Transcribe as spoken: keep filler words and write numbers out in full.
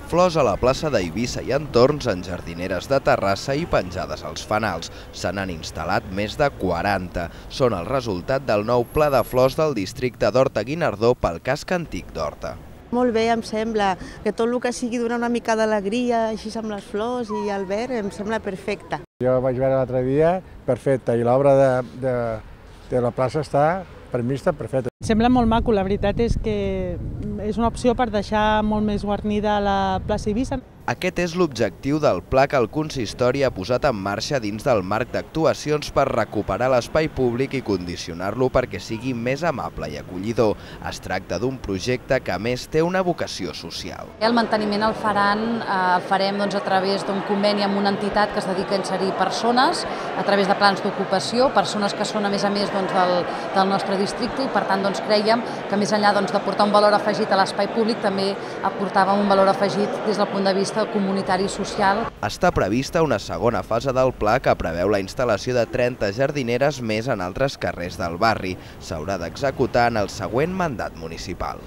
Flors a la plaça d'Eivissa i entorns en jardineres de Terrassa i penjades als fanals. Se n'han instal·lat més de quaranta. Són el resultat del nou pla de flors del districte d'Horta-Guinardó pel casc antic d'Horta. Molt bé, em sembla, que tot el que sigui donar una mica d'alegria, així amb les flors i el verd, em sembla perfecte. Jo vaig veure l'altre dia, perfecte, i l'obra de, de, de la plaça està, per mi està perfecta. Sembla molt maco, la veritat és que és una opció per deixar molt més guarnida la plaça Eivissa. Aquest és l'objectiu del pla que el consistori ha posat en marxa dins del marc d'actuacions per recuperar l'espai públic i condicionar-lo perquè sigui més amable i acollidor. Es tracta d'un projecte que a més té una vocació social. El manteniment el faran, el farem doncs, a través d'un conveni amb una entitat que es dedica a inserir persones a través de plans d'ocupació, persones que són a més a més doncs, del, del nostre districte i per tant doncs, creiem que més enllà doncs, d'aportar un valor afegit a l'espai públic també aportàvem un valor afegit des del punt de vista comunitari i social. Està prevista una segona fase del pla que preveu la instal·lació de trenta jardineres més en altres carrers del barri. S'haurà d'executar en el següent mandat municipal.